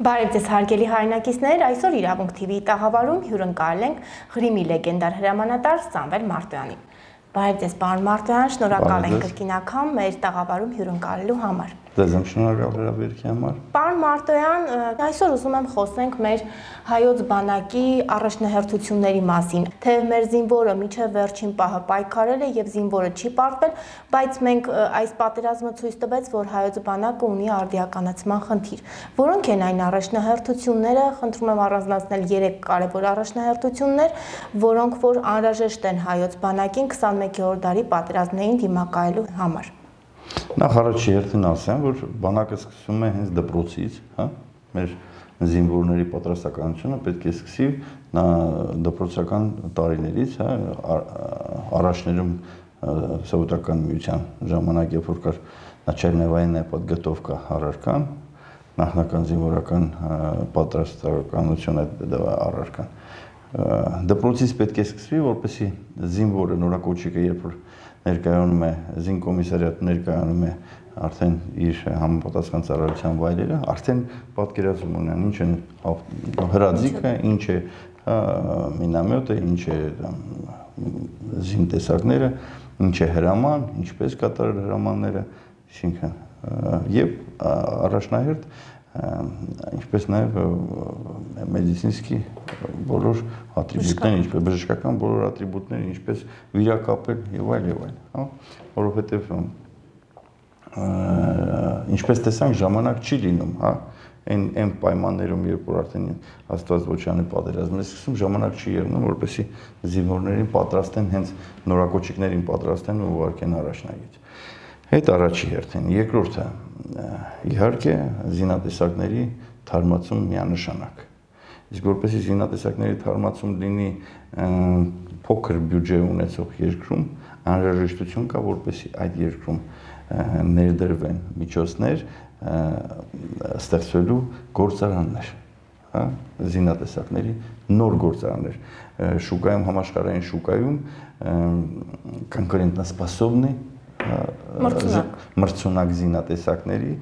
Բարև ձեզ հարգելի հայրենակիցներ, այսօր Իրավունք TV-ի տաղավարում հյուրընկալել ենք Ղրիմի լեգենդար հրամանատար Սամվել Մարտոյանին։ Բարև ձեզ, պարոն Մարտոյան, շնորհակալ ենք կրկին անգամ մեր տաղավարում հյուրընկալելու համար։ Ձեզ եմ շնորհակալ հրավերքի համար։ Պարոն Մարտոյան, այսօր ուզում եմ խոսենք մեր հայոց բանակի առաջնահերթությունների մասին, թեև մեր զինվորը մինչև վերջին պահը պայքարել է եւ զինվորը չի պարտվել, բայց մենք այս պատերազմը ցույց տվեց, որ հայոց բանակը ունի արդիականացման խնդիր։ Որոնք են այն առաջնահերթությունները, խնդրում եմ առանձնացնել 3 կարևոր առաջնահերթություններ, որոնք որ անհրաժեշտ են հայոց բանակին 21-րդ դարի պատերազմներին դիմակայելու համար։ Նախ առաջի հերթին ասեմ, որ բանակը սկսում է հենց դպրոցից, հա, մեր զինվորների պատրաստականությունը պետք է սկսի դպրոցական տարիներից, հա, առաջներում Սովետական միության ժամանակ, երբ որ կար начальная подготовка առարկան, նախնական զինվորական պատրաստականությունը առարկան։ Դպրոցից պետք է սկսվի, որպեսզի զինվորը նորակոչիկը, երբ որ ներկայանում է զինկոմիսարիատ ներկայանում է արդեն իր համապատասխան ծառայության վայրերը, արդեն պատկերացում ունեն ինչ է հրաձիգը, ինչ է մինամյոտը, ինչ է զինտեսակները, ինչ է հրաման, ինչպես կատարել հրամանները, այսինքն եւ առաջնահերթ ինչպես նաև մեդիցինսկի բոլոր ատրիբուտները, ինչպես բժշկական բոլոր ատրիբուտները, ինչպես վիրակապել եւ այլ, հա, որովհետեւ ինչպես տեսանք ժամանակ չի լինում, հա, այն պայմաններում, երբ որ արդեն Աստվածոչյանի պատերազմն է սկսում, ժամանակ չի եղնում, որպեսզի զինվորներին պատրաստեն, հենց նորակոչիկներին պատրաստեն ու ուղարկեն առաջնագիծ։ Այդ առաջի հերթին, երկրորդը իհարկե զինատեսակների թարմացում միանշանակ։ Իսկ որպեսզի զինատեսակների թարմացում լինի փոքր բյուջե ունեցող երկրում, անհրաժեշտություն կա, որպեսզի այդ երկրում ներդրվեն միջոցներ ստեղծվելու գործարաններ, հա, զինատեսակների նոր գործարաններ։ Շուկայում, համաշխարհային շուկայում конкурентоспособный մրցունակ զինատեսակների,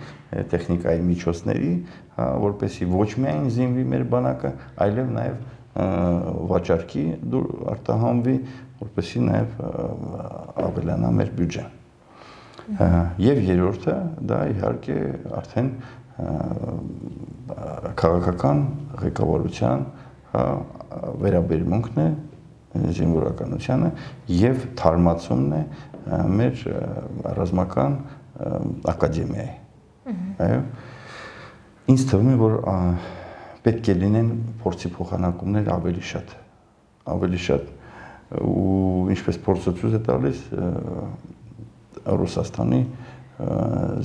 տեխնիկայի միջոցների, որպեսզի ոչ միայն զինվի մեր բանակը, այլև նաև վաճառքի արտահանվի, որպեսզի նաև ավելանա մեր բյուջեն։ Եվ երրորդը դա իհարկե արդեն քաղաքական ղեկավարության վերաբերմունքն է զինվորականությանը եւ թարմացումն է մեր ռազմական ակադեմիայի։ Այո։ Ինձ թվում է, որ պետք է լինեն փորձի փոխանակումներ ավելի շատ ու ինչպես փորձը ցույց է տալիս Ռուսաստանի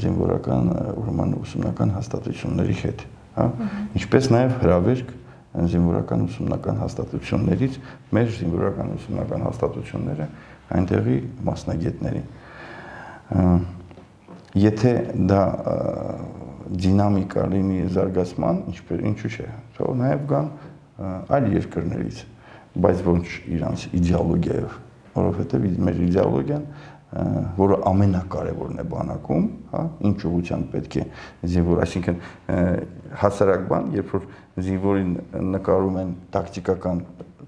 զինվորական ուրեմն ուսումնական հաստատությունների հետ, հա, ինչպես նաև հրավերք զինվորական ուսումնական հաստատություններից մեր զինվորական ուսումնական հաստատությունները այնտեղի մասնագետներին։ Եթե դա դինամիկա լինի զարգացման, ինչու՞ չէ, թող նաև գան այլ երկրներից, բայց ոչ իրանց իդեոլոգիայով, որովհետև մեր իդեոլոգիան, որը ամենակարևորն է բանակում, հա, ինչ ուղղությամբ պետք է զինվոր, այսինքն հասարակ բան, երբ որ զինվորին նկարում են տակտիկական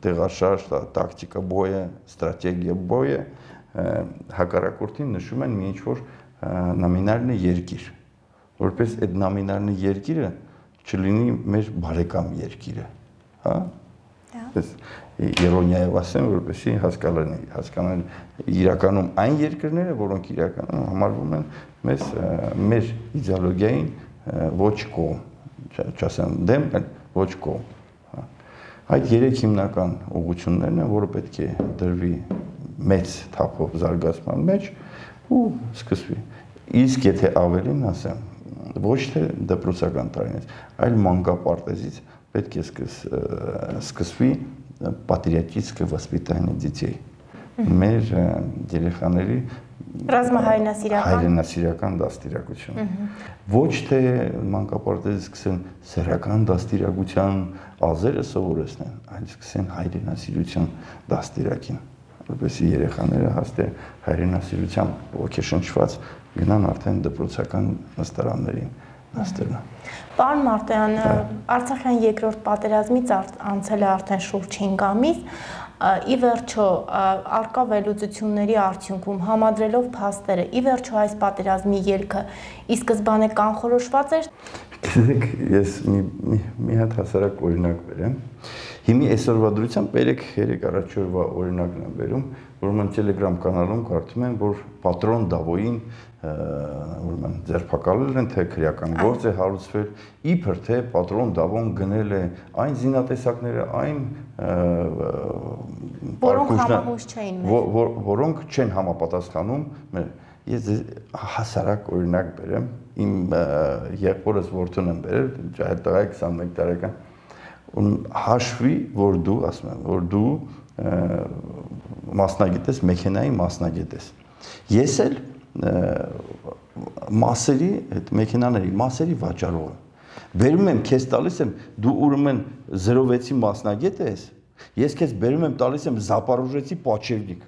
տեղաշարժ, տակտիկա բոյը, ստրատեգիա բոյը, հակառակորդին նշում են մի ինչ-որ նոմինալն երկիր, որպես այդ նոմինալն երկիրը չլինի մեր բարեկամ երկիրը, հա, Իրոնիայով ասեմ, որպեսզի հասկանան իրականում այն երկրները, որոնք իրականում համարվում են մեր իդեոլոգիային ոչ կողմ, չասեմ դեմ, այլ ոչ կողմ։ Այդ 3 հիմնական ուղղություններն են, որը պետք է դրվի մեծ թափով զարգացման մեջ ու սկսվի։ Իսկ եթե ավելին ասեմ, ոչ թե դպրոցական տարիներից, այլ մանկապարտեզից պետք է սկսվի патриотическое воспитание детей. Մեր երեխաների հայրենասիրական դաստիարակություն։ Ոչ թե մանկապարտեզից սկսեն սեռական դաստիարակության ազերը սովորեցնեն, այլ սկսեն հայրենասիրության դաստիարակին, որպեսզի երեխաները հաստե հայրենասիրությամբ ոգեշնչված գնան արդեն դպրոցական նստարաններին Աստերնա։ Պարոն Մարտոյան, Արցախյան երկրորդ պատերազմից անցել է արդեն շուրջ 5 ամիս, ի վերջո արկա վերլուծությունների արդյունքում համադրելով փաստերը, ի վերջո այս պատերազմի ելքը ի սկզբանե կանխորոշված էր։ Գիտեք, ես մի հատ հասարակ օրինակ բերեմ։ Հիմի այսօրվա դրությամբ 3 առաջորդվա օրինակն եմ բերում, որ mən Telegram կանալում կարդում եմ, որ պատրոն Դավոյին ուրեմն ձերբակալել են, թե քրեական գործ է հարուցվել, իբր թե պատրոն Դավոն գնել է այն զինատեսակները, այն որոնք չեն համապատասխանում։ Ես հասարակ օրինակ բերեմ, իմ եղբորս որդուն եմ բերել, տղա 21 տարեկան, հաշվի, որ դու, ասում եմ, որ դու մասնագետ ես, մեքենայի մասնագետ ես։ Ես էլ մասերի, այդ մեքենաների մասերի վաճառող եմ։ Բերում եմ, քեզ տալիս եմ, դու ուրեմն 06-ի մասնագետ ես, ես քեզ բերում եմ, տալիս եմ Զապարոժեցի պաչևնիկ,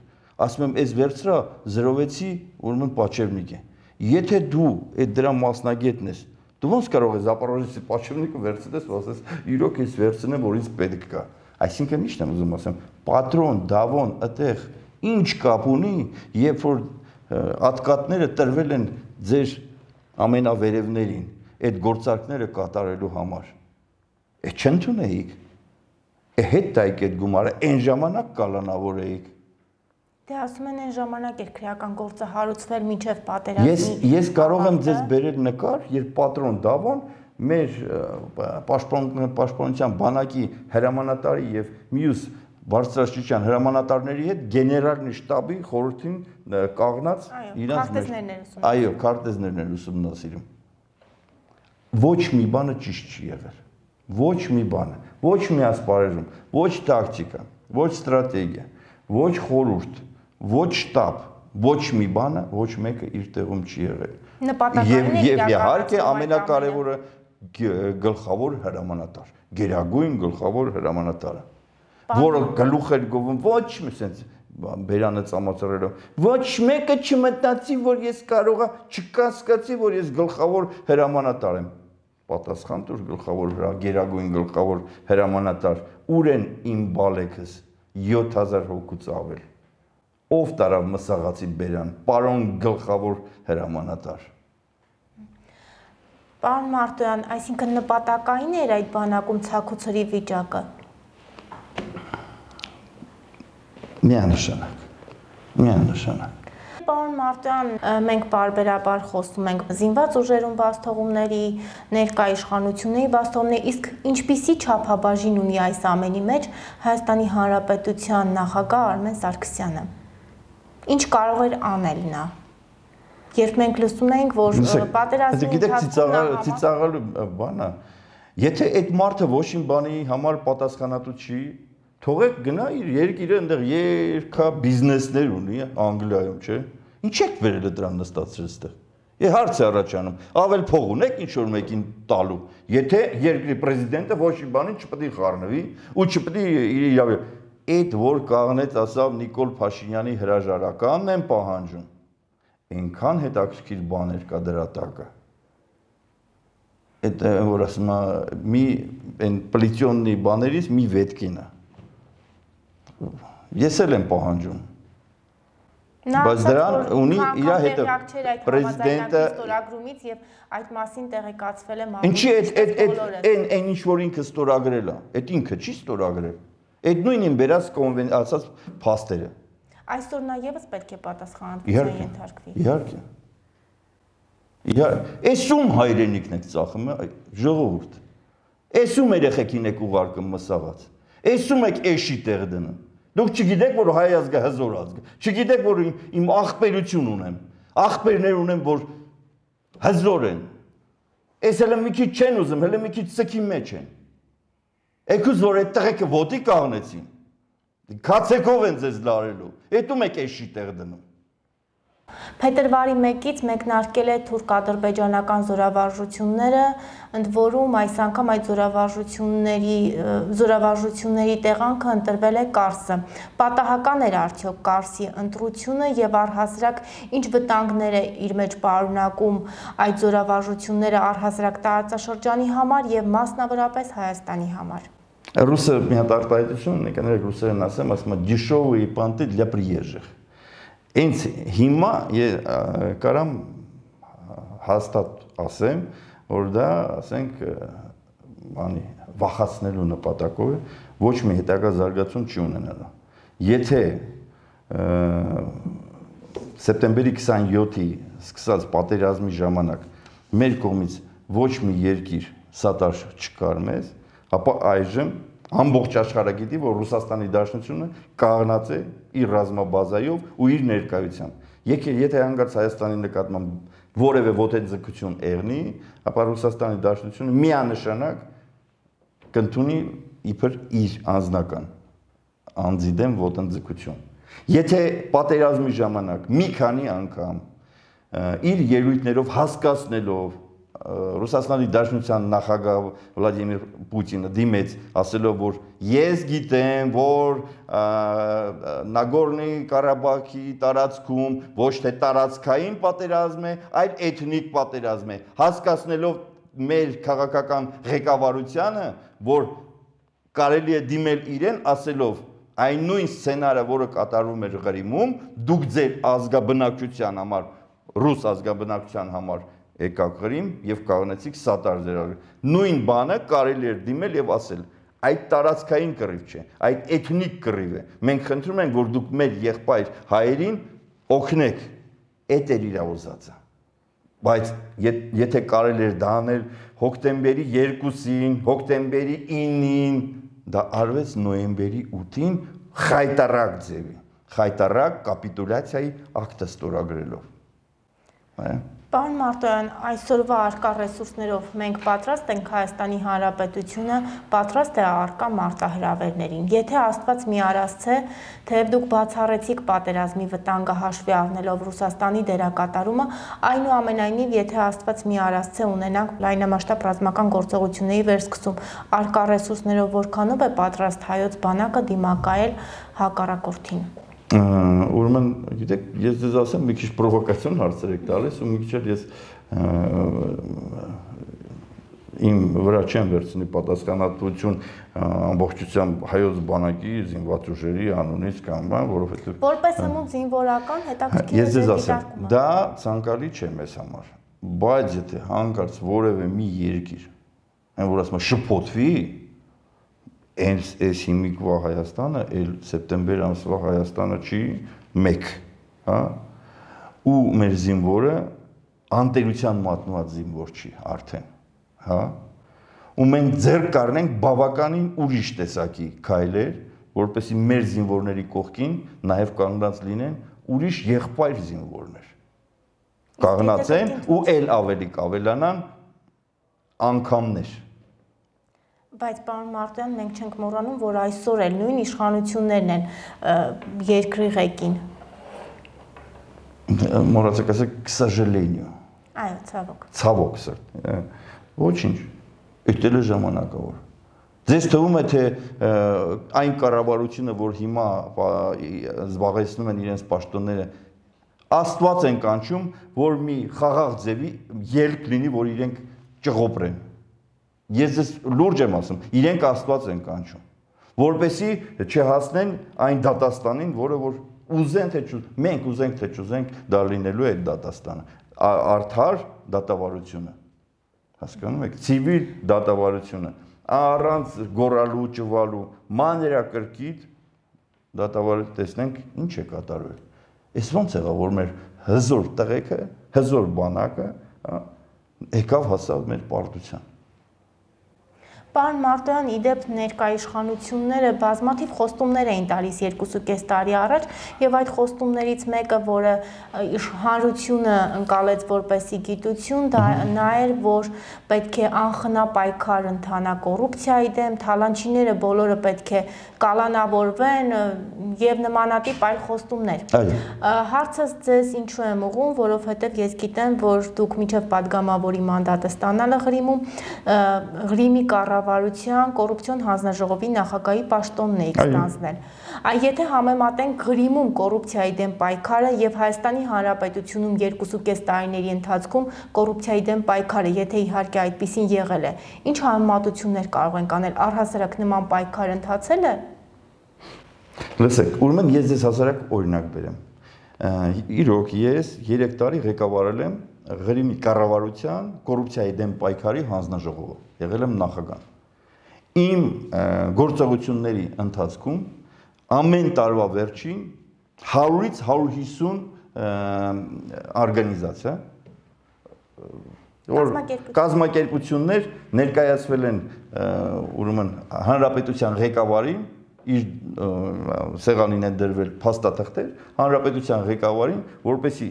ասում եմ, այս վերցրա 06-ի ուրեմն պաչևնիկ է։ Եթե դու այդ դրա մասնագետն ես, դու ոնց կարող ես Զապարոժեցի պաչևնիկը վերցնես, ու ասես, իրոք ես վերցնեմ, որ ինձ պետք կա։ Այսինքն ի՞նչն եմ ուզում ասեմ, պատրոն, Դավոն, այդտեղ ինչ կապ ունի, երբ որ ատկատները տրվել են ձեր ամենավերևներին, այդ գործարքները կատարելու համար։ Այդ չընդունեիք։ Հետ տայք այդ գումարը, այն ժամանակ կալանավորեիք։ Դե ասում են այն ժամանակ էր քրեական գործը հարուցվել մինչև պատերազմի։ Ես կարող եմ ձեզ բերել նկար, երբ պատրոն Դավոն մեր պաշտպանության բանակի հրամանատարի եւ մյուս բարձրաստիճան հրամանատարների հետ գեներալի շտաբի խորհրդին կաղնած իրենց այո, քարտեզներն են ուսումնասիրում։ Ոչ մի բանը ճիշտ չի եղել։ Ոչ մի բանը, ոչ մի ասպարեզում, ոչ տակտիկա, ոչ ստրատեգիա, ոչ խորհուրդ, ոչ շտաբ, ոչ մի բանը, ոչ մեկը իր տեղում չի եղել։ Եվ իհարկե ամենակարևորը գլխավոր հրամանատար, գերագույն գլխավոր հրամանատարը, որը գլուխ էր գովում ոչ մի sense բերանը ծամացրելով, ոչ մեկը չմտածի, որ ես կարողա չկասկածի, որ ես գլխավոր հրամանատար եմ։ Պատասխան տուր գլխավոր գերագույն գլխավոր հրամանատար, ուր են իմ բալեքս 7000 հոգուց ավել։ Ով տարավ մսաղացի բերան, պարոն գլխավոր հրամանատար։ Պարոն Մարտոյան, այսինքն նպատակային էր այդ բանակում ցաքուցրի վիճակը։ Միանշանակ։ Պարոն Մարտոյան, մենք պարբերաբար խոսում ենք զինված ուժերում բացթողումների, ներկա իշխանությունների բացթողումների, իսկ ինչպիսի չափաբաժին ունի այս ամենի մեջ Հայաստանի Հանրապետության նախագահ Արմեն Սարգսյանը։ Ինչ կարող էր անել նա։ Երբ մենք լսում ենք, որ պատերազմի ընթացքում ծիծաղալու բանը, եթե այդ մարդը ոչ մի բանի համար պատասխանատու չի, թողեք գնա իր երկիրը այնտեղ երկա բիզնեսներ ունի Անգլիայում, չէ՞։ Ինչ եք վերել դրան նստածրել այստեղ։ Է հարց է առաջանում, ավել փող ունեք ինչ որ մեկին տալու, եթե երկրի պրեզիդենտը ոչ մի բանի չպետք է խառնվի ու չպետք է իր իրավունք։ Այդ որ կաղնեց ասավ Նիկոլ Փաշինյանի հրաժարականն են պահանջում, այնքան հետաքրքիր բաներ կա դրա տակը։ Այդ որ ասում է մի այն պլիտյոննի բաներից մի վետքին է։ Ես էլ եմ պահանջում։ Բայց դրան ունի իր հետը պրեզիդենտը ստորագրումից եւ այդ մասին տեղեկացվել է Ինչի այն ինչ որ ինքը ստորագրել է, այդ ինքը չի ստորագրել։ Այդ նույնին բերած ասած փաստերը։ Այսօր նա եւս պետք է պատասխանատվության ենթարկվի։ Իհարկե։ Էսում հայրենիքն եք ծախում, ժողովուրդ։ Էսում երեխեքին եք ուղարկում մսաղած։ Էսում եք էշի տեղ դնում։ Դուք չգիտեք, որ հայ ազգը հզոր ազգ է։ Չգիտեք, որ իմ աղբերություն ունեմ։ Աղբերներ ունեմ, որ հզոր են։ Էս հələ մի քիչ չեն ուզում, հələ մի քիչ ցքի մեջ են։ Եկուս որ այդ տղեկը ոտի կաղնեցին։ Քացեկով են ձեզ լարելու։ Էտում եք էշի տեղ դնում։ Փետրվարի 1-ից մեկնարկել է թուրք-ադրբեջանական զորավարժությունները, ընդ որում այս անգամ այդ զորավարժությունների տեղանքը ընտրվել է Կարսը։ Պատահական էր արդյոք Կարսի ընտրությունը եւ առհասարակ ինչ վտանգներ է իր մեջ պարունակում այդ զորավարժությունները առհասարակ տարածաշրջանի համար եւ մասնավորապես Հայաստանի համար։ Ռուսը մի հատ արտահայտություն ունի, կներեք ռուսերեն ասեմ, ասում է «Дешевые понты для приезжих»։ Ինձ հիմա կարամ հաստատ ասեմ, որ դա, ասենք, վախացնելու նպատակով է, ոչ մի հետագա զարգացում չի ունենալու։ Եթե սեպտեմբերի 27-ի սկսած պատերազմի ժամանակ մեր կողմից ոչ մի երկիր սատար չկար մեզ, ապա այժմ ամբողջ աշխարհը գիտի, որ Ռուսաստանի Դաշնությունը կաղնած է իր ռազմաբազայով ու իր ներկայությամբ։ Եթե հանգարց Հայաստանի նկատմամբ որևէ ոտեձգություն եղնի, ապա Ռուսաստանի Դաշնությունը միանշանակ կընդունի իբր իր անձնական անձի դեմ ոտենձգություն։ Եթե պատերազմի ժամանակ մի քանի անգամ իր ելույթներով հասկացնելով Ռուսաստանի Դաշնության նախագահ Վլադիմիր Պուտինը դիմեց, ասելով, որ ես գիտեմ, որ Նագորնի Ղարաբաղի տարածքում ոչ թե տարածքային պատերազմ է, այլ էթնիկ պատերազմ է, հասկացնելով մեր քաղաքական ղեկավարությանը, որ կարելի է դիմել իրեն, ասելով այն նույն սցենարը, որը կատարվում էր Ղրիմում, դուք ձեր ազգաբնակչության համար, ռուս ազգաբնակչության համար եկաք Ղրիմ եւ կաղնեցիք սատար ձեր։ Նույն բանը կարելի էր դիմել եւ ասել, այդ տարածքային կռիվ չէ, այդ էթնիկ կռիվ է։ Մենք խնդրում ենք, որ դուք մեր եղբայր հայերին օգնեք, էդ էր իր ուզածը։ Բայց եթե կարելի էր դա անել հոկտեմբերի 2-ին, հոկտեմբերի 9-ին, դա արվեց նոյեմբերի 8-ին խայտարակ ձևի, խայտարակ կապիտուլյացիայի ակտը ստորագրելով։ Պարոն Մարտոյան, այսօրվա առկա ռեսուրսներով մենք պատրաստ ենք, Հայաստանի Հանրապետությունը պատրաստ է առկա մարտահրավերներին։ Եթե Աստված մի արասցե, թեև դուք բացառեցիք պատերազմի վտանգը հաշվի առնելով Ռուսաստանի դերակատարումը, այնուամենայնիվ, եթե Աստված մի արասցե ունենանք լայնամասշտաբ ռազմական գործողությունների վերսկսում, առկա ռեսուրսներով որքանով է պատրաստ հայոց բանակը դիմակայել հակառակորդին։ Ուրեմն, գիտեք, ես ձեզ ասեմ, մի քիչ պրովոկացիոն հարցեր եք տալիս ու մի քիչ ես իմ վրա չեմ վերցնի պատասխանատվություն ամբողջությամբ հայոց բանակի զինված ուժերի անունից կամ բան, որովհետև որպես հմուտ զինվորական հետաքրքիր ես ձեզ ասեմ, դա ցանկալի չէ մեզ համար, բայց եթե հանկարծ որևէ մի երկիր, այն որ ասում է շփոթվի, այս հիմիկվա Հայաստանը, էլ սեպտեմբեր ամսվա Հայաստանը չի մեկ, հա, ու մեր զինվորը անտերության մատնված զինվոր չի արդեն, հա, ու մենք ձեռք կառնենք բավականին ուրիշ տեսակի քայլեր, որպեսզի մեր զինվորների կողքին նաև կանգնած լինեն ուրիշ եղբայր զինվորներ, կաղնացեն ու էլ ավելի կավելանան անգամներ։ Բայց պարոն Մարտոյան, մենք չենք մոռանում, որ այսօր էլ նույն իշխանություններն են երկրի ղեկին։ Մոռացեք ասեք, к сожалению։ Այո, ցավոք։ Ցավոք, ոչինչ, էտել է ժամանակավոր։ Ձեզ թվում է, թե այն կառավարությունը, որ հիմա զբաղեցնում են իրենց պաշտոնները, Աստված են կանչում, որ մի խաղաղ ձևի ելք լինի, որ իրենք ճղոպրեն։ Ես ձեզ լուրջ եմ ասում, իրենք Աստված են կանչում, որպեսզի չհասնեն այն դատաստանին, որը որ ուզեն թե չուզեն, մենք ուզենք թե չուզենք, դա լինելու է այդ դատաստանը, արդար դատավարությունը, հասկանում եք, ցիվիլ դատավարությունը, առանց գոռալու, ճվալու, մանրակրկիտ դատավարություն, տեսնենք ինչ է կատարվել։ Այս ոնց եղավ, որ մեր հզոր տղեկը, հզոր բանակը եկավ հասավ մեր պարտության։ Պարոն Մարտոյան, իդեպ ներկա իշխանությունները բազմաթիվ խոստումներ էին տալիս 2.5 տարի առաջ եւ այդ խոստումներից մեկը, որը հանրությունը ընկալեց որպեսի գիտություն, դա նա էր, որ պետք է անխնա պայքար ընթանա կոռուպցիայի դեմ, թալանչիները բոլորը պետք է կալանավորվեն եւ նմանատիպ այլ խոստումներ։ Հարցս ձեզ ինչու եմ ուղղում, որովհետեւ ես գիտեմ, որ դուք միջև падգամավորի մանդատը ստանալը Ղրիմի կառավարության կոռուպցիոն հանձնաժողովի նախագահի պաշտոնն եք ստանձնել։ Եթե համեմատենք Ղրիմում կոռուպցիայի դեմ պայքարը եւ Հայաստանի Հանրապետությունում 2.5 տարիների ընթացքում կոռուպցիայի դեմ պայքարը, եթե իհարկե այդպեսին եղել է, ինչ համեմատություններ կարող ենք անել, առհասարակ նման պայքար ընթացել է։ Լսեք, ուրեմն ես ձեզ հասարակ օրինակ բերեմ։ Իրոք ես 3 տարի ղեկավարել եմ Ղրիմի կառավարության կոռուպցիայի դեմ պայքարի հանձնաժողովը, եղել եմ նախագահ։ Իմ գործողությունների ընթացքում ամեն տարվա վերջին 100-ից 150 օրգանիզացիա կազմակերպություններ ներկայացվել են ուրեմն հանրապետության ղեկավարին, իր սեղանին են դրվել փաստաթղթեր, հանրապետության ղեկավարին, որպեսզի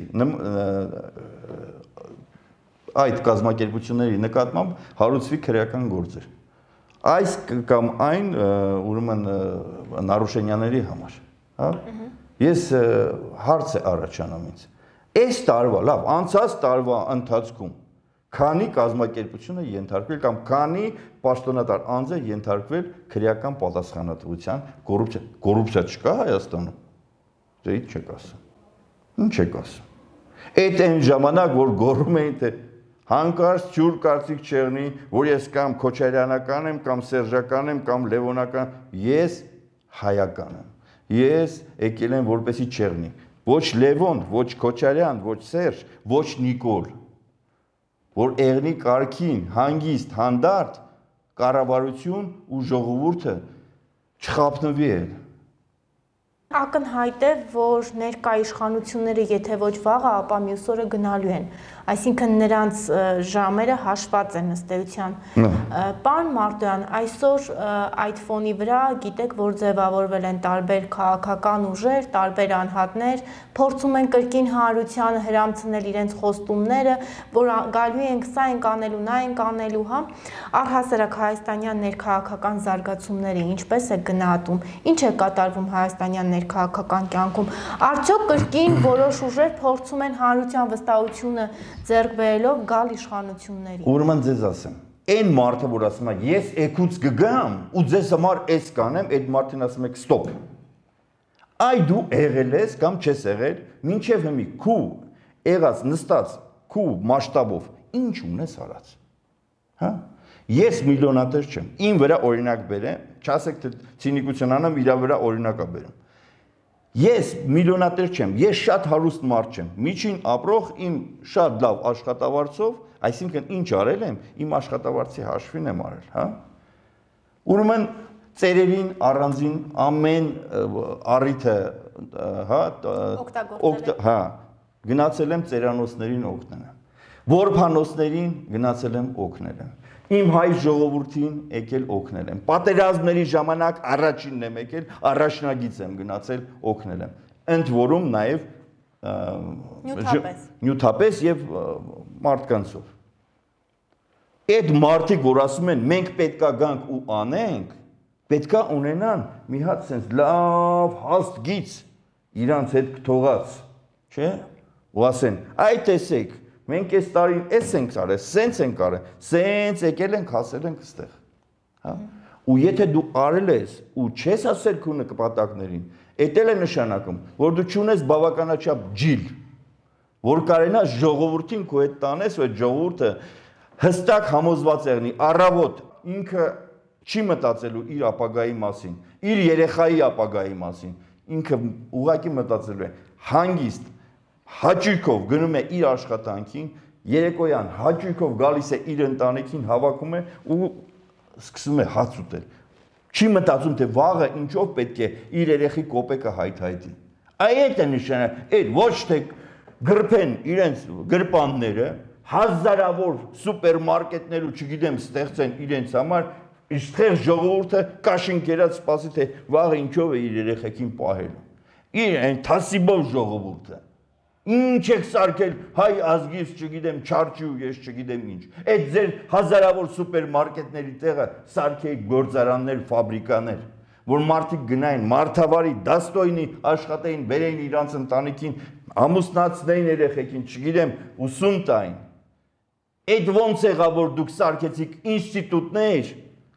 այդ կազմակերպությունների նկատմամբ հարուցվի քրեական գործեր։ Այս կամ այն ուրեմն նարուշենյաների համար, հա։ Ես հարց է առաջանում ինձ։ Այս տարվա, լավ, անցած տարվա ընթացքում քանի կազմակերպություն է ենթարկվել կամ քանի պաշտոնատար անձ է ենթարկվել քրեական պատասխանատվության կոռուպցիա չկա Հայաստանում։ Դե ինչ եք ասում։ Ինչ եք ասում։ Այդ այն ժամանակ, որ գոռում էին, թե հանկարծ ջուր կարծիք չեղնի, որ ես կամ քոչարյանական եմ, կամ սերժական եմ, կամ լևոնական, ես հայական եմ։ Ես եկել եմ որպեսի չեղնի։ Ոչ Լևոն, ոչ Քոչարյան, ոչ Սերժ, ոչ Նիկոլ, որ եղնի կարգին, հանգիստ, հանդարտ, կառավարություն ու ժողովուրդը չխափնվի էլ։ Ակնհայտ է, որ ներկա իշխանությունները եթե ոչ վաղը, ապա մյուս օրը գնալու են, այսինքն նրանց ժամերը հաշված են ըստ էության։ Պարոն Մարտոյան, այսօր այդ ֆոնի վրա գիտեք, որ ձևավորվել են տարբեր քաղաքական ուժեր, տարբեր անհատներ, փորձում են կրկին հանրությանը հրամցնել իրենց խոստումները, որ գալու ենք, սա ենք անելու, նա ենք անելու, հա։ Առհասարակ հայաստանյան ներքաղաքական զարգացումները ինչպես է գնահատում, ինչ է կատարվում հայաստանյան քաղաքական կյանքում, արդյոք կրկին որոշ ուժեր փորձում են հանրության վստահությունը ձեռք բերելով գալ իշխանությունների։ Ուրեմն ձեզ ասեմ, այն մարդը, որ ասում է, ես եկուց կգամ ու ձեզ համար էս կանեմ, այդ մարդին ասում եք ստոպ։ Այ դու եղել ես կամ չես եղել, մինչև հիմի քու եղած նստած քու մասշտաբով ինչ ունես արած։ Հա։ Ես միլիոնատեր չեմ։ Իմ վրա օրինակ բերեմ, չասեք թե ցինիկություն անեմ, իր վրա օրինակա բերեմ։ Ես միլիոնատեր չեմ, ես շատ հարուստ մարդ չեմ, միջին ապրող իմ շատ լավ աշխատավարձով, այսինքն ինչ արել եմ, իմ աշխատավարձի հաշվին եմ արել, հա։ Ուրեմն ծերերին առանձին ամեն առիթը, հա, գնացել եմ ծերանոցներին օգնել եմ, որբանոցներին գնացել եմ օգնել եմ։ Իմ հայ ժողովրդին եկել օգնել եմ։ Պատերազմների ժամանակ առաջինն եմ եկել, առաջնագիծ եմ գնացել օգնել եմ։ Ընդ որում նաև նյութապես եւ մարդկանցով։ Այդ մարդիկ, որ ասում են մենք պետքա գանք ու անենք, պետքա ունենան մի հատ sense լավ հաստ գիծ իրանց հետ կթողած, չէ՞։ Ու ասեն, այ տեսեք մենք այս տարին էս ենք արել, սենց ենք արել, սենց եկել ենք, հասել ենք այստեղ, հա։ Ու եթե դու արել ես ու չես ասել քո նպատակներին, դա էլ է նշանակում, որ դու չունես բավականաչափ ջիլ, որ կարենաս ժողովրդին քո հետ տանես, ու այդ ժողովուրդը հստակ համոզված եղնի, առավոտ ինքը չի մտածելու իր ապագայի մասին, իր երեխայի ապագայի մասին, ինքը ուղղակի մտածելու է հանգիստ հաճույքով գնում է իր աշխատանքին, երեկոյան հաճույքով գալիս է իր ընտանիքին, հավաքում է ու սկսում է հաց ուտել։ Չի մտածում, թե վաղը ինչով պետք է իր երեխի կոպեկը հայթայթի։ Այդ է նշանակում, այդ ոչ թե գրփեն իրենց գրպանները, հազարավոր սուպերմարկետներ ու չգիտեմ ստեղծեն իրենց համար, Իստեղ ժողովուրդը կաշին կերած սպասի, թե վաղը ինչով է իր երեխեքին պահելու։ Իր այն թասիբով ժողովուրդը։ Ինչ եք սարքել հայ ազգից, չգիտեմ, չարչի ու ես չգիտեմ ինչ։ Այդ ձեր հազարավոր սուպերմարկետների տեղը սարքեիք գործարաններ, ֆաբրիկաներ, որ մարդիկ գնային, մարդավարի, դաստոյնի աշխատեին, բերեին իրանց ընտանիքին, ամուսնացնեին երեխեքին, չգիտեմ, ուսում տային։ Այդ ոնց եղավ, որ դուք սարքեցիք ինստիտուտներ,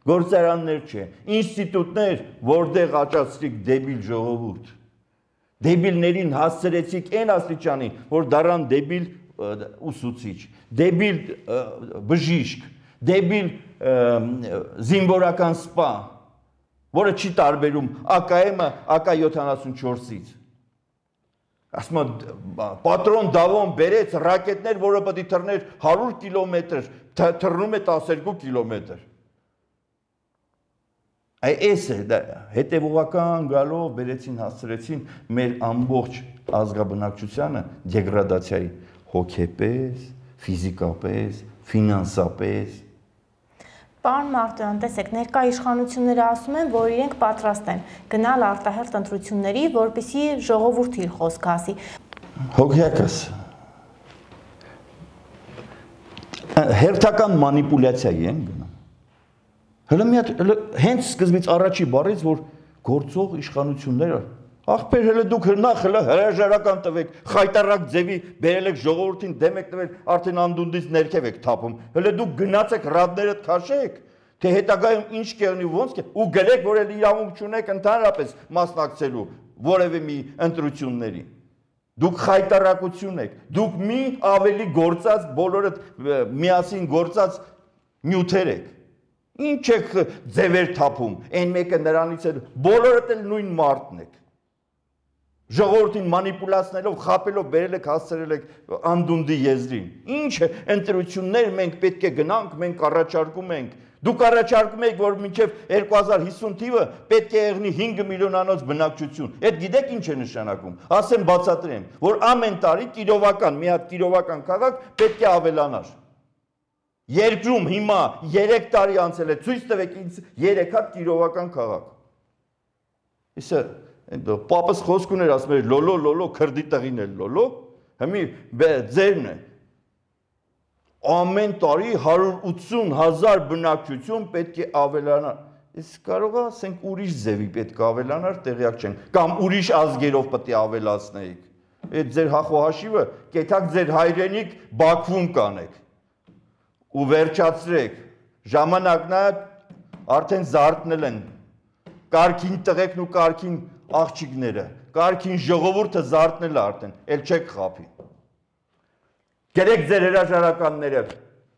գործարաններ չէ, ինստիտուտներ, որտեղ աճացրիք դեբիլ ժողովուրդ։ Դեբիլներին հասցրեցիք այն աստիճանի, որ դառան դեբիլ ուսուցիչ, դեբիլ բժիշկ, դեբիլ զինվորական սպա, որը չի տարբերում ԱԿՄ ԱԿ-74-ից։ Ասում եմ, պատրոն Դավոն բերեց ռակետներ, որը պետք է թռներ 100 կիլոմետր, թռնում է 12 կիլոմետր։ Այս է, հետևողական գալով բերեցին, հասցրեցին մեր ամբողջ ազգաբնակչությանը դեգրադացիայի հոգեպես, ֆիզիկապես, ֆինանսապես։ Պարոն Մարտոյան, տեսեք, ներկա իշխանությունները ասում են, որ իրենք պատրաստ են գնալ արտահերթ ընտրությունների, որպեսզի ժողովուրդը իր խոսքը ասի։ Հոգեակս հերթական մանիպուլյացիայի են գնում։ Հələ մի հատ հենց սկզբից առաջի բառից, որ գործող իշխանությունները, ախպեր հələ դուք նախ հələ հրաժարական տվեք, խայտարակ ձևի բերել եք ժողովրդին դեմ եք տվել, արդեն անդունդից ներքև եք թափում, հələ դուք գնացեք ռադներդ քաշեք, թե հետագայում ինչ կեղնի ոնց կե, ու գրեք, որ էլ իրավունք չունեք ընդհանրապես մասնակցելու որևէ մի ընտրությունների։ Դուք խայտարակություն եք, դուք մի ավելի գործած, բոլորդ միասին գործած նյութեր եք։ Ինչ եք ձևեր թափում, այն մեկը նրանից էլ, բոլորդ էլ նույն մարդն եք։ Ժողովրդին մանիպուլացնելով, խապելով, բերել եք, հասցրել եք անդունդի եզրին։ Ինչ ընտրություններ մենք պետք է գնանք, մենք առաջարկում ենք։ Դուք առաջարկում եք, որ մինչև 2050 թիվը պետք է եղնի 5 միլիոնանոց բնակչություն։ Այդ գիտեք ինչ է նշանակում։ Ասեմ բացատրեմ, որ ամեն տարի կիրովական, մի հատ կիրովական քաղաք պետք է ավելանար։ Երկրում հիմա 3 տարի անցել է, ցույց տվեք ինձ 3 հատ կիրովական քաղաք։ Իսկ պապս խոսք ուներ, ասում էր լոլո, լոլո, քրդի տղին էլ լոլո, հիմի ձերն է։ Ամեն տարի 180,000 բնակչություն պետք է ավելանար։ Իսկ կարող է ասենք ուրիշ ձևի պետք է ավելանար, տեղյակ չենք, կամ ուրիշ ազգերով պետք է ավելացնեիք։ Այդ ձեր հախոհաշիվը կեթակ ձեր հայրենիք Բաքվում կանեք։ Ու վերջացրեք, ժամանակն է արդեն զարթնել են, կարգին տղեկն ու կարգին աղջիկները, կարգին ժողովուրդը զարթնել է արդեն, էլ չեք խափի։ Գերեք ձեր հրաժարականները,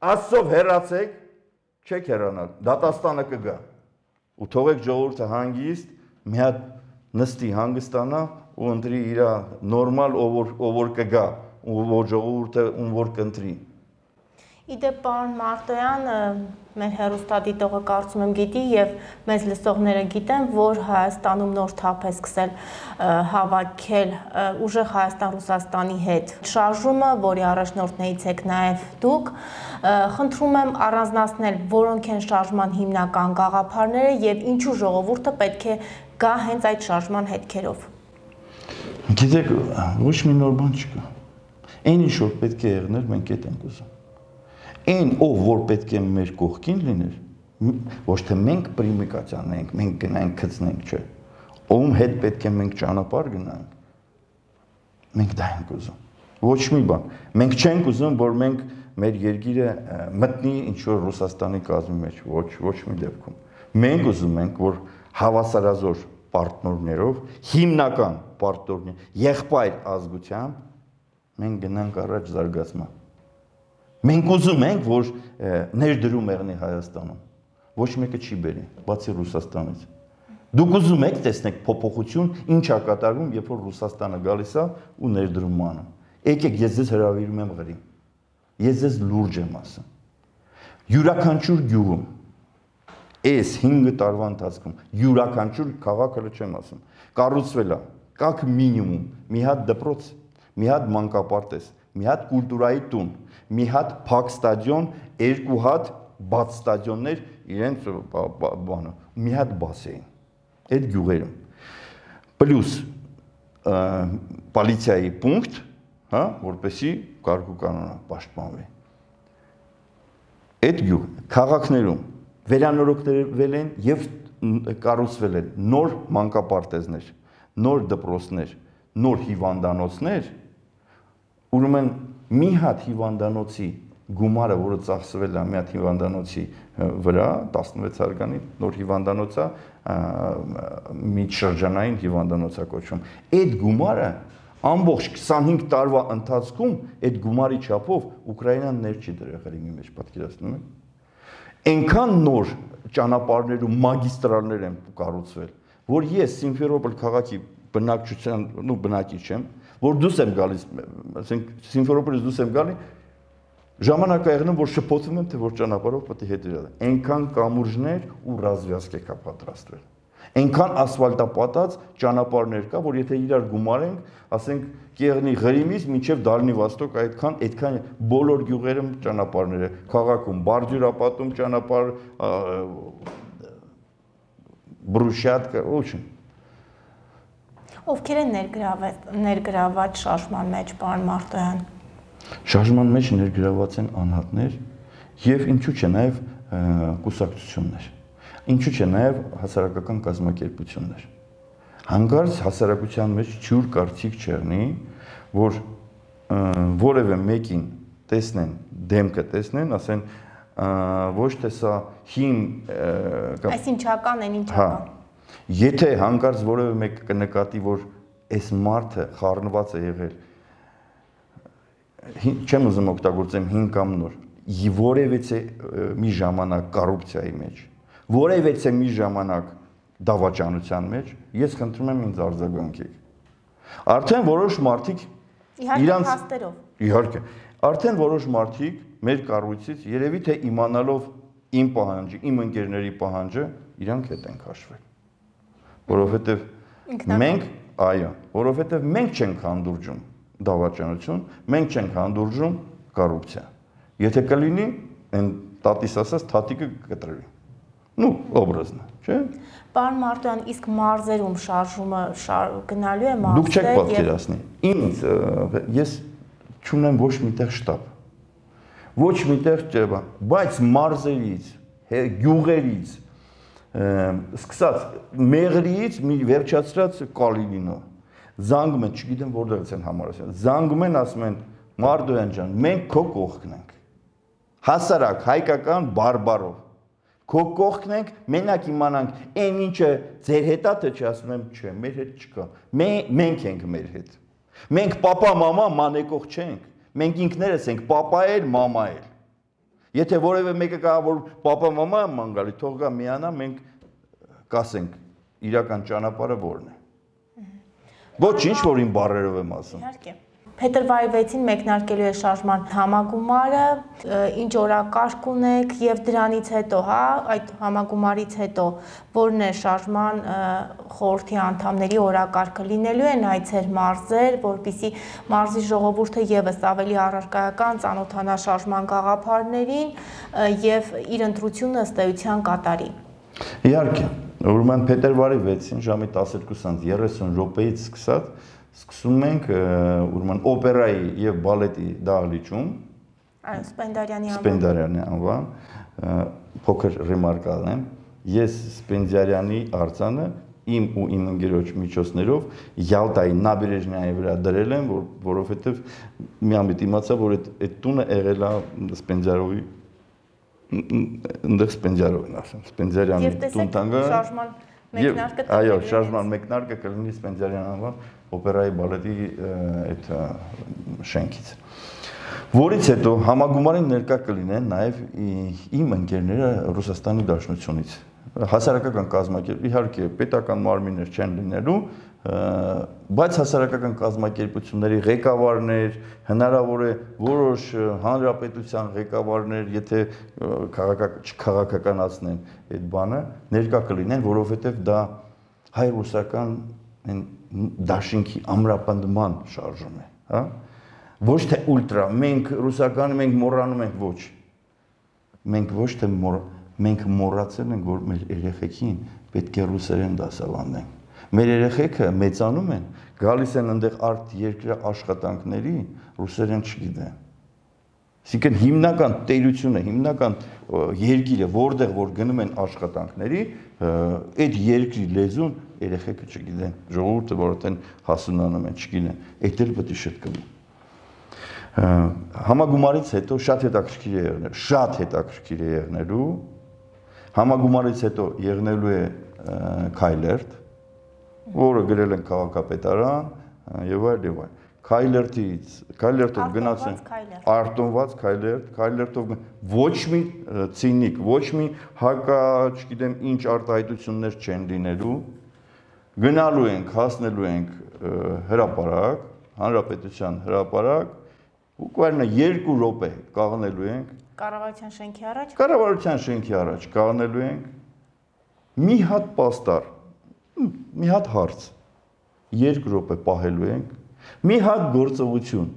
Աստծով հեռացեք, չեք հեռանալ, դատաստանը կգա։ Ու թողեք ժողովուրդը հանգիստ, մի հատ նստի հանգստանա ու ընտրի իր նորմալ ով որ կգա, ու որ ժողովուրդը ում որ կընտրի։ Իդեպ պարոն Մարտոյան, մեր հեռուստադիտողը կարծում եմ գիտի եւ մեզ լսողները գիտեն, որ Հայաստանում նոր թափ է սկսել հավաքել ուժեղ Հայաստան-Ռուսաստանի հետ շարժումը, որի առաջնորդներից եք նաեւ դուք, խնդրում եմ առանձնացնել, որոնք են շարժման հիմնական գաղափարները եւ ինչու ժողովուրդը պետք է գա հենց այդ շարժման հետքերով։ Գիտեք, ոչ մի նոր բան չկա։ Այն ինչ որ պետք է եղներ, մենք այդ ենք ուզում։ Այն ով որ պետք է մեր կողքին լիներ, ոչ թե մենք պրիմիկացիանենք, մենք գնանք գցնենք, չէ։ Ում հետ պետք է մենք ճանապարհ գնանք։ Մենք դա ենք ուզում։ Ոչ մի բան։ Մենք չենք ուզում, որ մենք մեր երկիրը մտնի ինչ որ Ռուսաստանի կազմի մեջ, ոչ մի դեպքում։ Մենք ուզում ենք, որ հավասարազոր պարտներով, հիմնական պարտներով, եղբայր ազգությամբ մենք գնանք առաջ զարգացման։ Մենք ուզում ենք, որ ներդրում եղնի Հայաստանում, ոչ մեկը չի բերի, բացի Ռուսաստանից։ Դուք ուզում եք տեսնեք փոփոխություն, ինչ է կատարվում, երբ որ Ռուսաստանը գալիս է ու ներդրում անում։ Եկեք, ես ձեզ հրավիրում եմ Ղրիմ։ Ես ձեզ լուրջ եմ ասում։ Յուրաքանչյուր գյուղում, այս 5 տարվա ընթացքում, յուրաքանչյուր քաղաքը չեմ ասում, կառուցվել է, կակ մինիմում, մի հատ դպրոց, մի հատ մանկապարտեզ, մի հատ կուլտուրայի տուն, մի հատ փակ ստադիոն, 2 հատ բաց ստադիոններ իրենց բանը մի հատ բասեին այդ գյուղերում պլյուս պոլիցիայի պունկտ, հա, որպեսի կարգ ու կանոնը պաշտպանվի։ Այդ գյուղ քաղաքներում վերանորոգվել են եւ կառուցվել են նոր մանկապարտեզներ, նոր դպրոցներ, նոր հիվանդանոցներ, ուրեմն մի հատ հիվանդանոցի գումարը, որը ծախսվել է մի հատ հիվանդանոցի վրա, 16 հարգանի նոր հիվանդանոցա, միջշրջանային հիվանդանոցա կոչվում։ Այդ գումարը ամբողջ 25 տարվա ընթացքում այդ գումարի չափով Ուկրաինան ներ չի դրել մի մեջ, պատկերացնում եք։ Այնքան նոր ճանապարհներ ու մագիստրալներ են կառուցվել, որ ես Սիմֆերոպոլ քաղաքի բնակչության, բնակիչ եմ, որ դուրս եմ գալիս, ասենք Սիմֆերոպոլից դուրս եմ գալի, ժամանակ է եղնում, որ շփոթվում եմ, թե որ ճանապարհով պետք է հետ իրար։ Այնքան կամուրջներ ու ռազմյազք կա պատրաստվել։ Այնքան ասֆալտապատած ճանապարհներ կա, որ եթե իրար գումարենք, ասենք Կեղնի Ղրիմից մինչև Դալնի Վոստոկ այդքան բոլոր գյուղերում ճանապարհներ է, քաղաքում Բարդյուրապատում ճանապարհ, Բրուշյատկա, ոչինչ։ Ովքեր են ներգրաված շարժման մեջ, պարոն Մարտոյան։ Շարժման մեջ ներգրաված են անհատներ եւ ինչու՞ չէ նաեւ կուսակցություններ, ինչու՞ չէ նաեւ հասարակական կազմակերպություններ։ Հանկարծ հասարակության մեջ ջուր կարծիք չեղնի, որ որևէ մեկին տեսնեն, դեմքը տեսնեն, ասեն ոչ թե սա հին այսինչական են ինչական։ Եթե հանկարծ որևէ մեկ կնկատի, որ այս մարդը խառնված է եղել, չեմ ուզում օգտագործեմ հին կամ նոր, որևէ մի ժամանակ կոռուպցիայի մեջ, որևէ մի ժամանակ դավաճանության մեջ, ես խնդրում եմ ինձ արձագանքեք։ Արդեն որոշ մարդիկ իրանց հաստերով։ Իհարկե, արդեն որոշ մարդիկ մեր կառույցից երևի թե իմանալով իմ պահանջը, իմ ընկերների պահանջը, իրանք հետ են քաշվել։ Որովհետև մենք, այո, որովհետև մենք չենք հանդուրժում դավաճանություն, մենք չենք հանդուրժում կոռուպցիա։ Եթե կլինի, այն տատիս ասած թաթիկը կտրվի։ Ну, образно, չէ՞։ Պարոն Մարտոյան, իսկ մարզերում շարժումը գնալու է մարզեր։ Դուք չեք պատկերացնի։ Ինձ ես չունեմ ոչ միտեղ շտաբ։ Ոչ միտեղ չէ, բայց մարզերից, գյուղերից, սկսած Մեղրիից մի վերջացրած Կալինինո զանգում են, չգիտեմ որտեղից են համարասել, զանգում են, ասում են Մարտոյան ջան, մենք քո կողքն ենք, հասարակ հայկական բարբարով, քո կողքն ենք, մենակ իմանանք, այն ինչը ձեր հետ է, թե չի, ասում եմ, չէ, մեր հետ չկա, մենք ենք մեր հետ, մենք պապա, մամա, մանեկող չենք, մենք ինքներս ենք պապա էլ, մամա էլ, եթե որևէ մեկը կա, որ պապա, մամա եմ ման գալի, թող գա միանա, մենք կասենք, իրական ճանապարհը որն է։ Ոչինչ, որ իմ բառերով եմ ասում։ Իհարկե։ Փետրվարի 6-ին մեկնարկելու է շարժման համագումարը, ինչ օրակարգ ունեք եւ դրանից հետո, հա, այդ համագումարից հետո որն է շարժման խորհրդի անդամների օրակարգը, լինելու են այցեր մարզեր, որպիսի մարզի ժողովուրդը եւս ավելի առարկայական ծանոթանա շարժման գաղափարներին եւ իր ընտրությունը ըստ էության կատարի։ Իհարկե, ուրեմն փետրվարի 6-ին ժամի 12:30 րոպեից սկսած սկսում ենք ուրեմն օպերայի եւ բալետի դահլիճում, այո, Սպենդիարյանի անվան, փոքր ռեմարկ անեմ, ես Սպենդիարյանի արձանը իմ ու իմ ընկերոջ միջոցներով Յալտայի Նաբերեժնայի վրա դրել եմ, որովհետեւ մի ամիտ իմացա, որ այդ տունը եղել է Սպենդիարովի ընդեղ Սպենդիարովն ասեմ, Սպենդիարյանի տուն տանգը։ Այո, շարժման մեկնարկը կլինի Սպենդիարյան անվան օպերայի բալետի այդ շենքից։ Որից հետո համագումարին ներկա կլինեն նաև իմ ընկերները Ռուսաստանի Դաշնությունից։ Հասարակական կազմակերպ, իհարկե պետական մարմիններ չեն լինելու, բայց հասարակական կազմակերպությունների ղեկավարներ, հնարավոր է որոշ հանրապետության ղեկավարներ, եթե չքաղաքականացնեն այդ բանը, ներկա կլինեն, որովհետև դա հայ-ռուսական դաշինքի ամրապնդման շարժում է, հա? Ոչ թե ուլտրա, մենք ռուսականը մենք մոռանում ենք, ոչ։ Մենք ոչ թե մենք մոռացել ենք, որ մեր երեխեքին պետք է ռուսերեն դասավանդենք։ Մեր երեխեքը մեծանում են, գալիս են այնտեղ արտ երկրի աշխատանքների, ռուսերեն չգիտեն։ Այսինքն հիմնական տերությունը, հիմնական երկիրը, որտեղ որ գնում են աշխատանքների, այդ երկրի լեզուն երեխեքը չգիտեն, ժողովուրդը որ այդեն հասունանում են, չգիտեն, այդ էլ պետք է շտկվի։ Համագումարից հետո շատ հետաքրքիր է եղնելու, համագումարից հետո եղնելու է Քայլերտ, որը գրել են քաղաքապետարան եւ այլ։ Քայլերտով գնացեն արտոնված Քայլերտով ոչ մի ցինիկ, ոչ մի հակա, չգիտեմ, ինչ արտահայտություններ չեն լինելու, գնալու ենք, հասնելու ենք հրապարակ, հանրապետության հրապարակ, բуквально 2 րոպե կաղնելու ենք Կառավարության շենքի առաջ։ Կառավարության շենքի առաջ կաղնելու ենք մի հատ պաստառ, մի հատ հարց 2 րոպե պահելու ենք, մի հատ գործողություն,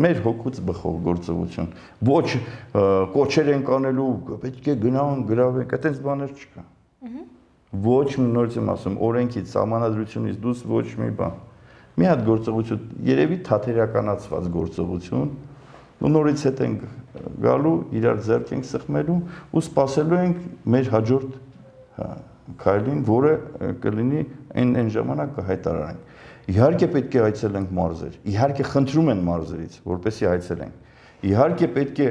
մեր հոգուց բխող գործողություն, ոչ կոչեր ենք անելու, պետք է գնանք, գրավենք, այդպես բաներ չկա։ Ոչ մի նորից եմ ասում, օրենքից, սահմանադրությունից դուրս ոչ մի բան։ Մի հատ գործողություն, երևի թատերականացված գործողություն, ու նորից հետ ենք գալու, իրար ձեռք ենք սխմելու ու սպասելու ենք մեր հաջորդ քայլին, որը կլինի այն ժամանակ կհայտարարենք։ Իհարկե պետք է այցելենք մարզեր, իհարկե խնդրում են մարզերից, որպեսզի այցելենք։ Իհարկե պետք է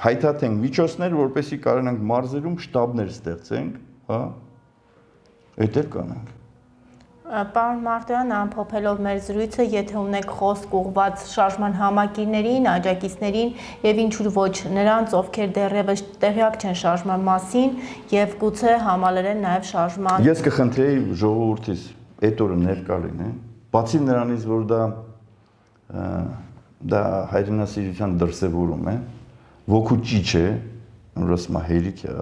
հայտարարենք միջոցներ, որպեսզի կարողանանք մարզերում շտաբներ ստեղծենք, հա։ Այդ էլ կանենք։ Պարոն Մարտոյան, ամփոփելով մեր զրույցը, եթե ունեք խոսք ուղղված շարժման համակիրներին, աջակիցներին եւ ինչու ոչ նրանց, ովքեր դեռևս տեղյակ չեն շարժման մասին եւ գուցե համալրեն նաեւ շարժման։ Ես կխնդրեի ժողովրդից այդ օրը ներկա լինեն, բացի նրանից, որ դա հայրենասիրության դրսևորում է, ոգու ճիչ է, ուրասմա հերիք է,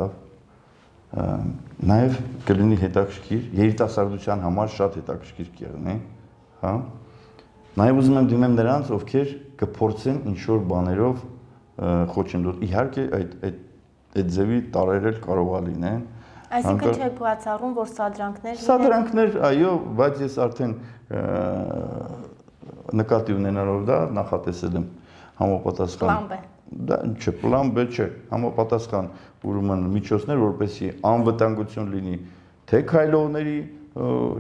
նաև կլինի հետաքրքիր, երիտասարդության համար շատ հետաքրքիր կեղնի, հա։ Նաև ուզում եմ դիմեմ նրանց, ովքեր կփորձեն ինչ-որ բաներով խոչընդոտ։ Իհարկե այդ ձևի տարերել կարող է լինեն։ Այսինքն չէ բացառում, որ սադրանքներ։ Սադրանքներ, այո, բայց ես արդեն նկատի ունենալով դա նախատեսել եմ համապատասխան։ Պլան B։ Դա չէ, պլան B չէ, համապատասխան ուրեմն միջոցներ, որպեսզի անվտանգություն լինի թե քայլողների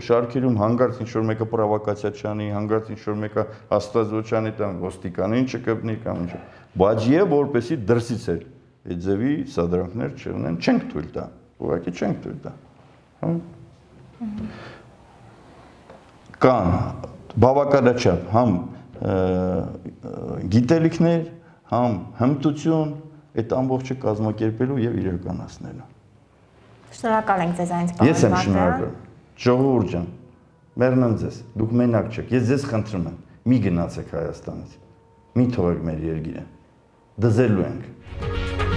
շարքերում, հանգարց ինչ-որ մեկը պրովոկացիա չանի, հանգարց ինչ-որ մեկը հաստատվոչանի տան ոստիկանին չկպնի կամ ինչ, բայց եւ որպեսզի դրսից էլ այդ ձևի սադրանքներ չունեն, չենք թույլ տա, ուղղակի չենք թույլ տա, հա։ Կան բավականաչափ համ գիտելիքներ, համ հմտություն այդ ամբողջը կազմակերպելու եւ իրականացնելու։ Շնորհակալ ենք ձեզանից, պարոն Մարտոյան։ Ես եմ շնորհակալ։ Ժողովուրդ ջան, մեռնեմ ձեզ, դուք մենակ չեք։ Ես ձեզ խնդրում եմ, մի գնացեք Հայաստանից։ Մի թողեք մեր երկիրը։ Դզելու ենք։